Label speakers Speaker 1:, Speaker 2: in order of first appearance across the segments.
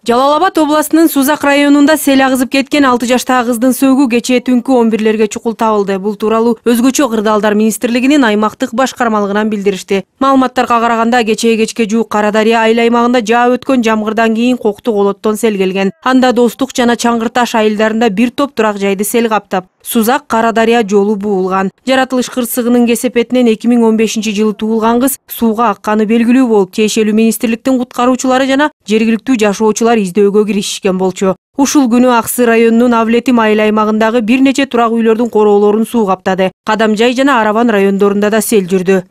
Speaker 1: Жалал Абад областынын Сузак районунда сел агызып кеткен 6 жаштагы кыздын сөөгү кечээ түнкү 11-лерге чукул табылды. Бул тууралуу Өзгөчө кырдаалдар министрлигинин аймактык башкармалыгынан билдиришти. Маалыматтарга караганда кечээ кечке жуук Кара Дарыя айыл аймагында жаап өткөн жамгырдан кийин коктук олоттон сел келген. Анда Достук жана Чаңгырташ айылдарында бир топ турак жайды сел каптап, Сузак Кара Дарыя жолу буулган. Жаратылыш кырсыгынын кесепетинен 2015-жылы туулган кыз сууга акканы белгилүү болуп, тиешелүү министрликтин куткаруучулары жана жергиликтүү жашоочулар издөөгө киришишкен болчу. Ушул күнү Аксы районунун Авлетим айыл аймагындагы бир нече турак үйлөрдүн короолорун суу каптады. Кадамжай жана Араван райондорунда да сел жүрдү.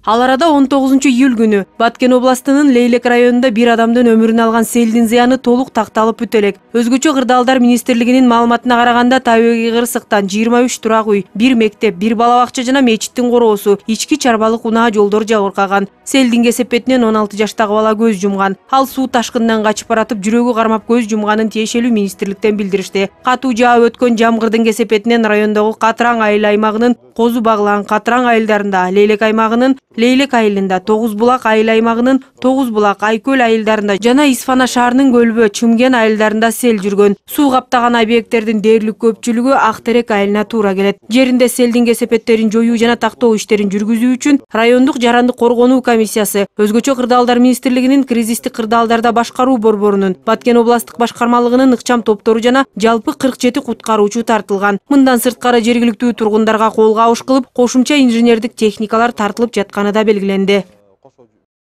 Speaker 1: Ал арада 19-июль күнү Баткен областынын Лейлек районунда бир адамдын өмүрүн алган селдин зыяны толук такталып бүтө элек. Өзгөчө кырдаалдар министрлигинин маалыматына караганда табигый кырсыктан 23 турак үй, бир мектеп, бир бала бакча жана мечиттин короосу, ички чарбалык унаа жолдор жабыркаган. Селдин кесепетинен 16 жаштагы бала көз жумган. Ал суу ташкынынан качып баратып жүрөгү кармап көз жумганын тиешелүү министрликтен билдиришти. Катуу жаап өткөн жамгырдын кесепетинен райондогу Катыраң айыл аймагынын Козу Баглан, Катыраң айылдарында, Лейлек аймагынын Лейлек айылында, Тогуз Булак айыл аймагынын Тогуз Булак, Айкөл айылдарында жана Исфана шаарынын Көлбө, Чүмген айылдарында сел жүргөн. Суу каптаган объекттердин дээрлик көпчүлүгү Актерек айылына туура келет. Жеринде селдин кесепеттерин жоюу жана тактоо иштерин жүргүзүү үчүн райондук жарандык коргонуу комиссиясы, Өзгөчө кырдаалдар министрлигинин кризистик кырдаалдарда башкаруу борборунун, Баткен областтык башкармалыгынын ыкчам топтору жана жалпы 47 куткаруучу тартылган. Мындан сырткары жергиликтүү тургундарга колго абыш кылып, кошумча инженердик техникалар тартылып жатканы да белгиленди.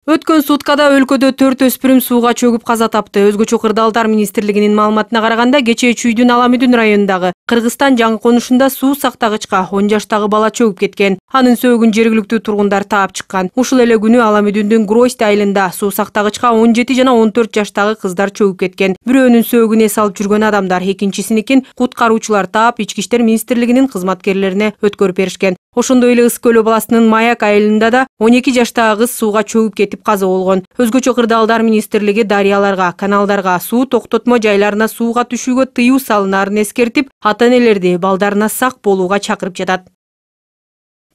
Speaker 1: Өткөн суткада өлкөдө 4 өспүрүм сууга чөгүп каза тапты. Өзгөчө кырдаалдар министрлигинин маалыматына караганда, кечээ Чүйдүн Аламүдүн районундагы Кыргызстан жаңы конушунда суу сактагычка 10 жаштагы бала чөгүп кеткен. Анын сөөгүн жергиликтүү тургундар таап чыккан. Ушул эле күнү Аламүдүндүн Гроздь айылында суу сактагычка 17 жана 14 жаштагы кыздар чөгүп кеткен. Бирөөнүн сөөгүн эс алып жүргөн адамдар, экинчисиникин куткаруучулар таап Ички иштер министрлигинин кызматкерлерине өткөрүп беришкен. Ошондой эле Ыс көл областынын Маяк айылында да 12 жаштагы кыз сууга чөгүп кетип каза болгон. Өзгөчө кырдаалдар министрлиги дарыяларга, каналдарга, суу токтотмо жайларына сууга түшүүгө тыюу салынаарын эскертип, ата-энелерди балдарына сак болууга чакырып жатат.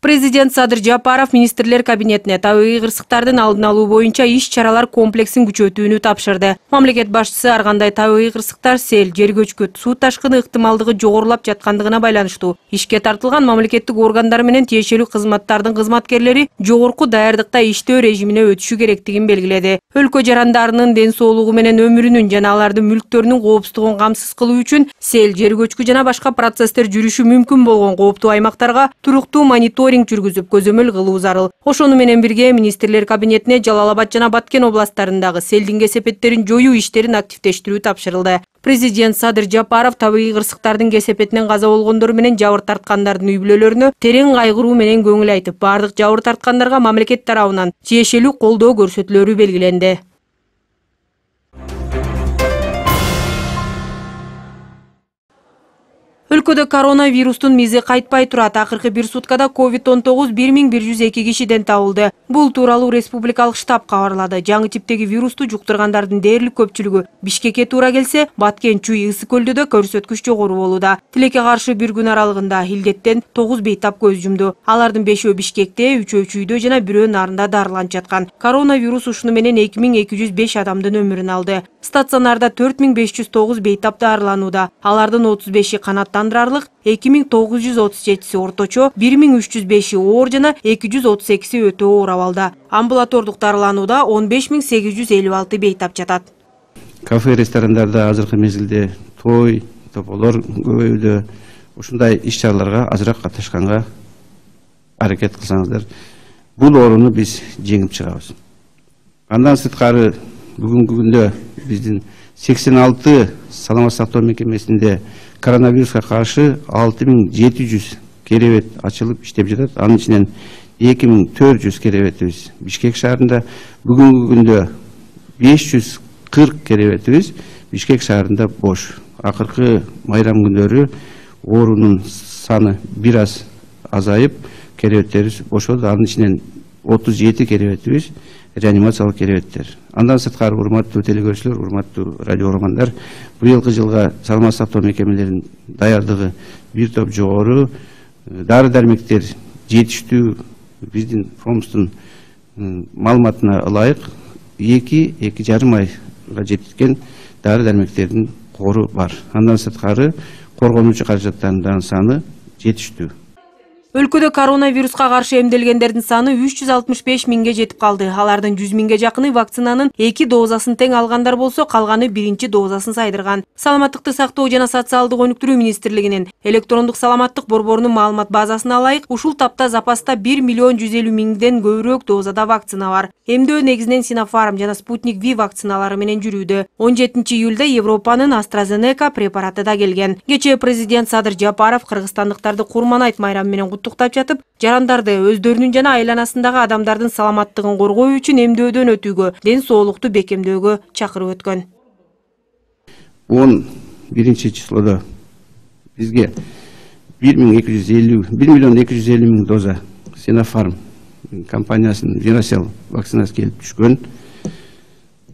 Speaker 1: Президент Садыр Жапаров министрлер кабинетине табигый кырсыктардын алдын алуу боюнча иш-чаралар комплексин күчөтүүнү тапшырды. Мамлекет башчысы ар кандай табигый кырсыктар, сел, жер көчкү, суу ташкыны ыктымалдыгы жогорулап жаткандыгына байланыштуу ишке тартылган мамлекеттик органдар менен тиешелүү кызматтардын кызматкерлери жогорку даярдыкта иштөө режимине өтүшү керектигин белгиледи. Өлкө жарандарынын ден соолугу менен өмүрүнүн жана алардын мүлктөрүнүн коопсуздугун камсыз кылуу үчүн сел, жер көчкү жана башка процесстер жүрүшү мүмкүн болгон кооптуу аймактарга туруктуу мониторинг жүргүзүп көзөмөл кылуу зарыл. Ошону менен бирге министрлер кабинетине Жалал Абад жана Баткен областтарындагы селдин кесепеттерин жоюу иштерин активдештирүү тапшырылды. Президент Садыр Жапаров табигый кырсыктардын кесепетинен каза болгондор менен жабыр тарткандардын үй бүлөлөрүнө терең кайгыруу менен көңүл айтып, бардык жабыр тарткандарга мамлекет тарабынан тиешелүү колдоо көрсөтүлөрү белгиленди. Өлкөдө коронавирустун мизи кайтпай турат. Акыркы бир суткада COVID-19 1102 кишиден табылды. Бул тууралуу республикалык штаб кабарлады. Жаңы типтеги вирусту жуктургандардын дээрлик көпчүлүгү Бишкекке туура келсе, Баткен, Чүй, Ысы көлдө да көрсөткүч жогору болууда. Тилекке каршы бир күн аралыгында илдеттен 9 бейтап көз жумду. Алардын 5-өө Бишкекте, 3-өө Чүйдө жана 1-өө Нарында дарыланып жаткан. Коронавирус ушуну менен 2205 адамдын өмүрүн алды. Стационарда 4509 бейтап дарыланууда. Алардын 35-и канаттандырарлык, 2937-си орточо, 1305-и оор жана 232-си өтө оор абалда. Амбулатордук дарыланууда 15856 бейтап жатат.
Speaker 2: Кафе, ресторандарда азыркы мезгилде той, тополор көбөйүүдө. Ушундай иш-чараларга азыраак катышканга аракет кылсаңыздар, бул ооруну биз жеңип чыгабыз. Андан сырткары бүгүнкү күндө биздин 86 саламат сактоо мекемесинде коронавируска каршы 6700 керебет ачылып иштеп жатат. Анын ичинен 2400 керебетибиз Бишкек шаарында, бүгүнкү күндө 540 керебетибиз Бишкек шаарында бош. Акыркы майрам күндөрү оорунун саны бир аз азайып, керебеттерибиз бошоду. Анын ичинен 37 керебетибиз реанимациялык керебеттер. Андан сырткары, урматтуу телекөрүүчүлөр, урматтуу радио угармандар, быйылкы жылга саламат сактоо мекемелеринин даярдыгы бир топ жогору, дары-дармектер жетиштүү. Биздин фонддун маалыматына ылайык 2-2,5 ай жеткен дары дармектердин кору бар. Андан сырткары коргонуучу каражаттардын саны жетиштүү.
Speaker 1: Өлкөдө коронавируска каршы эмделгендердин саны 365 миңге жетип калды. Алардын 100 миңге жакыны вакцинанын 2 дозасын тең алгандар болсо, калганы 1 дозасын сайдырган. Саламаттыкты сактоо жана социалдык өнүктүрүү министрлигинин электрондук саламаттык борборунун маалымат базасына ылайык, ушул тапта запаста 1 миллион 150 миңден көбүрөөк дозада вакцина бар. Эмдөө негизинен Sinopharm жана Sputnik V вакциналары менен жүрүүдө. 17 июлда Европанын AstraZeneca препараты да келген. Кечээ президент Садыр Жапаров кыргызстандыктарды Курман-айт майрамы менен куттуктап жатып, жарандарды өздөрүнүн жана айланасындагы адамдардын саламаттыгын коргоо үчүн эмдөөдөн өтүүгө, ден соолукту бекемдөөгө чакырып өткөн.
Speaker 2: 11 числода бизге 1 миллион 250 миң доза Sinopharm компаниясынын Viracell вакцинасы келип түшкөн.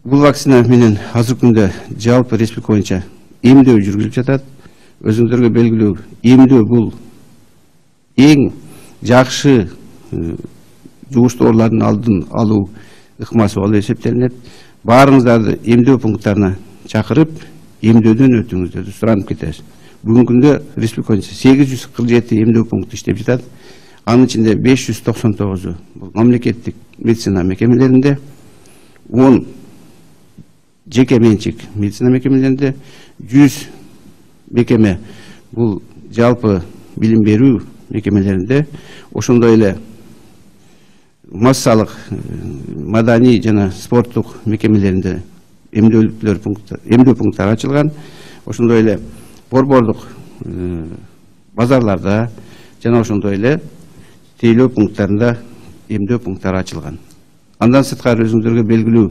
Speaker 2: Бул вакцина менен азыркы күндө жалпы республика боюнча эмдөө жүргүзүлүп жатат. Өзүңүздөргө белгилүү, эмдөө бул эң жакшы жугуштуу оорулардын алдын алуу ыкмасы болуп эсептелинет. Баарыңыздарды эмдөө пункттарына чакырып, эмдөөдөн өтүүңүздөрдү суранып кетебиз. Бүгүнкү күндө республика боюнча 847 эмдөө пункту иштеп жатат. Анын ичинде 599 бул мамлекеттик медицина мекемелеринде, 10 жеке менчик медицина мекемелеринде, 100 мекеме бул жалпы билим берүү мекемелеринде, ошондой эле массалык маданий жана спорттук мекемелеринде эмдөө пункттары ачылган. Ошондой эле борбордук базарларда жана ошондой эле тейлөө пункттарында эмдөө пункттары ачылган. Андан сырткары өзүңүздөргө белгилүү,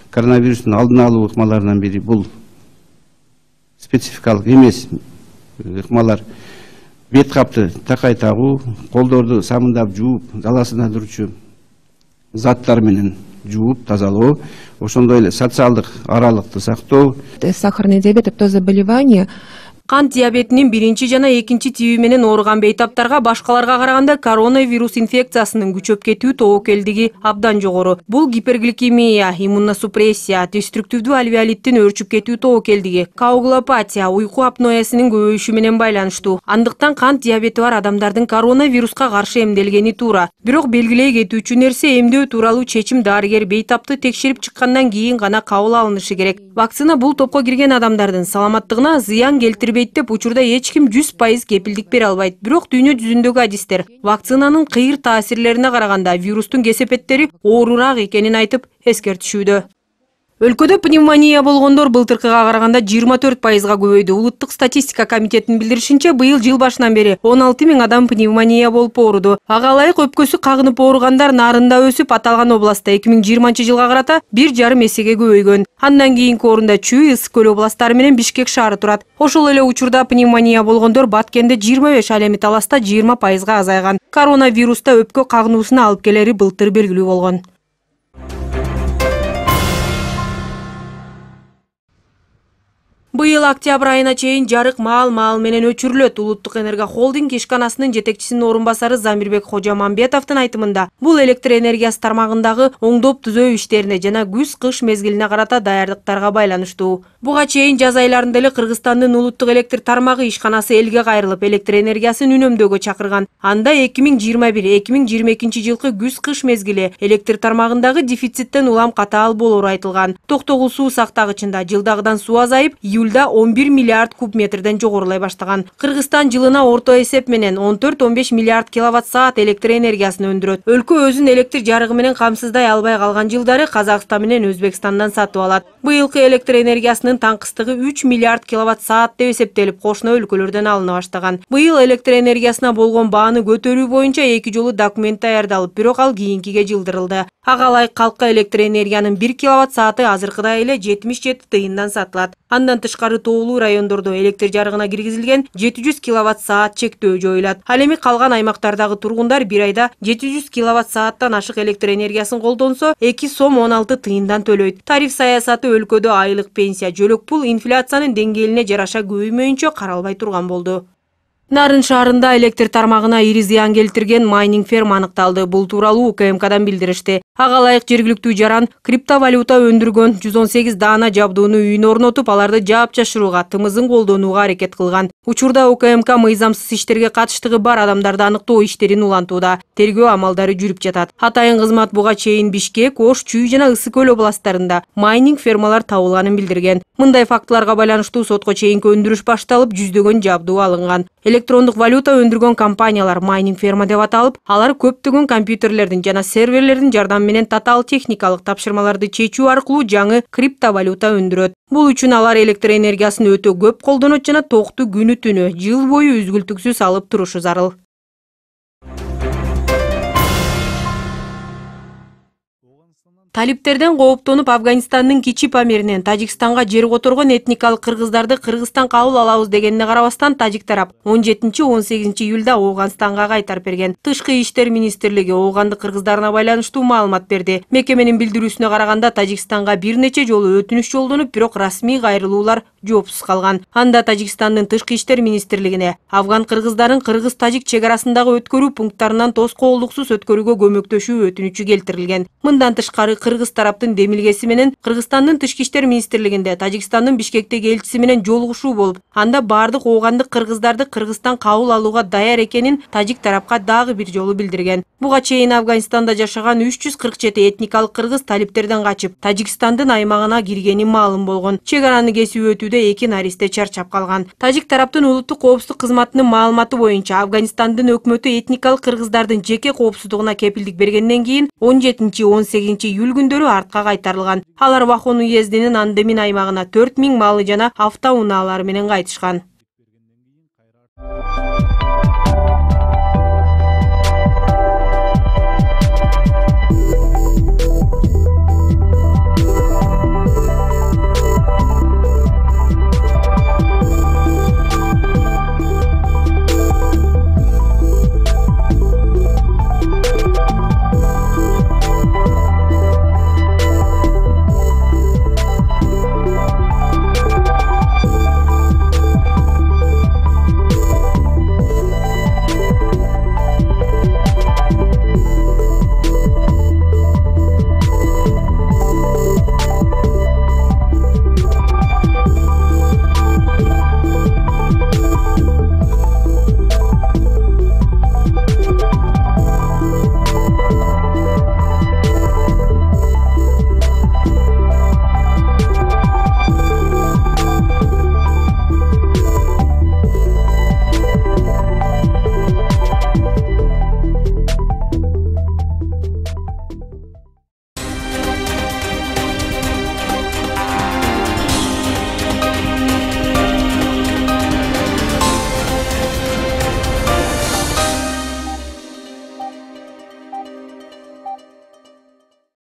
Speaker 2: коронавирустун алдын алуу ыкмаларынан бири бул спецификалык эмес ыкмалар. Бет капты такай тагуу, колдорду самындап жууп, заласына турчу заттар менен жууп тазалоо, ошондой эле социалдык аралыкты сактоо.
Speaker 3: Сахарный диабет — это заболевание.
Speaker 1: Кант диабетинин 1 жана 2 тиби менен ооруган бейтаптарга башкаларга караганда коронавирус инфекциясынын күчөп кетүү тобокелдиги абдан жогору. Бул гипергликемия, иммуносупрессия, деструктивдүү алвеолиттин өөрчүп кетүү тобокелдиги, коагулопатия, уйку апноясынын көбөйүшү менен байланыштуу. Андыктан кант диабети бар адамдардын коронавируска каршы эмделгени туура. Бирок белгилей кетүүчү нерсе, эмдөө тууралуу чечим дарыгер бейтапты текшерип чыккандан кийин гана кабыл алынышы керек. Вакцина бул топко кирген адамдардын саламаттыгына зыян келтирбейт деп учурда эч ким 100% кепилдик бере албайт. Бирок дүйнө жүзүндөгү адистер вакцинанын кыйыр таасирлерине караганда вирустун кесепеттери оорураак экенин айтып эскертишүүдө. Өлкөдө пневмония болгондор былтыркыга караганда 24%га көбөйдү. Улуттук статистика комитетинин билдиришинче, быйыл жыл башынан бери 16 миң адам пневмония болуп ооруду. Ага ылайык өпкөсү кагынып ооругандар нарында өсүп, аталган областта 2020 жылга карата 1,5 эсеге көбөйгөн. Андан кийинки орунда Чүй, Ысык көл областары менен Бишкек шаары турат. Ошол эле учурда пневмония болгондор Баткенде 25, ал эми Таласта 20%га азайган. Коронавируста өпкө кагынуусуна алып келери былтыр белгилүү болгон. Быйыл октябрь айына чейин жарык маал менен өчүрүлөт. Улуттук энергия холдинг ишканасынын жетекчисинин орун басары Замирбек Кожамамбетовдун айтымында, бул электр энергиясы тармагындагы оңдоп түзөө иштерине жана күз-кыш мезгилине карата даярдыктарга байланыштуу. Буга чейин жаз айларында эле Кыргызстандын улуттук электр тармагы ишканасы элге кайрылып, электр энергиясын үнөмдөөгө чакырган. Анда 2021-2022 жылкы күз-кыш мезгили электр тармагындагы дефициттен улам катаал болору айтылган. Токтогул суу сактагычында жылдагыдан суу азайып, июлда 11 миллиард куб метрден жогорулай баштаган. Кыргызстан жылына орто эсеп менен 14-15 миллиард киловатт-саат электр энергиясын өндүрөт. Өлкө өзүн электр жарыгы менен камсыздай албай калган жылдары Казакстан менен Өзбекстандан сатып алат. Быйылкы электр энергиясынын таңкыстыгы 3 миллиард киловатт-саат деп эсептелип, кошуна өлкөлөрдөн алына баштаган. Быйыл электр энергиясына болгон бааны көтөрүү боюнча 2 жолу документ даярдалып, бирок ал кийинкиге жылдырылды. Ага ылайык калкка электр энергиянын 1 киловатт-сааты азыркыдай эле 77 тыйындан сатылат. Андан тышкары тоолуу райондордо электр жарыгына киргизилген 700 киловатт-саат чектөө жоюлат. Ал эми калган аймактардагы тургундар бир айда 700 киловатт-сааттан ашык электр энергиясын колдонсо 2 сом 16 тыйындан төлөйт. Тариф саясаты өлкөдө айлык пенсия, жөлөк пул инфляциянын деңгээлине жараша көбөймөйүнчө каралбай турган болду. Нарын шаарында электр тармагына ири зыян келтирген майнинг ферма аныкталды. Бул тууралуу УКМКдан билдиришти. Ага ылайык жергиликтүү жаран криптовалюта өндүргөн 118 даана жабдууну үйүнө орнотуп, аларды жаап жашырууга, тымызын колдонууга аракет кылган. Учурда УКМК мыйзамсыз иштерге катыштыгы бар адамдарды аныктоо иштерин улантууда. Тергөө амалдары жүрүп жатат. Атайын кызмат буга чейин Бишкек, Ош, Чүй жана Ысык көл областтарында майнинг фермалар табылганын билдирген. Мындай фактыларга байланыштуу сотко чейинки өндүрүш башталып, жүздөгөн жабдуу алынган. Электрондук валюта өндүргөн компаниялар майнинг ферма деп аталып, алар көптөгөн компьютерлердин жана серверлердин жардамы менен татаал техникалык тапшырмаларды чечүү аркылуу жаңы криптовалюта өндүрөт. Бул үчүн алар электр энергиясын өтө көп колдонот жана токту күнү түнү, жыл бою үзгүлтүксүз алып турушу зарыл. Талиптерден кооптонуп Афганистандын Кичи Памиринен Тажикстанга жер которгон этникалык кыргыздарды Кыргызстан кабыл алабыз дегенине карабастан, тажик тарап 17-18 июлда Ооганстанга кайтарып берген. Тышкы иштер министрлиги оогандык кыргыздарына байланыштуу маалымат берди. Мекеменин билдирүүсүнө караганда, Тажикстанга бир нече жолу өтүнүч жолдонуп, бирок расмий кайрылуулар жоопсуз калган. Анда Тажикстандын тышкы иштер министрлигине афган кыргыздарын кыргыз-тажик чек арасындагы өткөрүү пункттарынан тоскоолдуксуз өткөрүүгө көмөктөшүү өтүнүчү келтирилген. Мындан тышкары кыргыз тараптын демилгеси менен Кыргызстандын тышкы иштер министрлигинде Тажикстандын Бишкектеги элчиси менен жолугушуу болуп, анда бардык оогандык кыргыздарды Кыргызстан кабыл алууга даяр экенин тажик тарапка дагы бир жолу билдирген. Буга чейин Афганистанда жашаган 347 этникалык кыргыз талиптерден качып, Тажикстандын аймагына киргени маалым болгон. Чек араны кесип өтүүдө 2 наристе чарчап калган. Тажик тараптын улуттук коопсуздук кызматынын маалыматы боюнча, Афганистандын өкмөтү этникалык кыргыздардын жеке коопсуздугуна кепилдик бергенден кийин 17-18 июль күндөрү артка кайтарылган. Алар Вахон уездинин Андемин аймагына 4000 малы жана автоунаалары менен кайтышкан.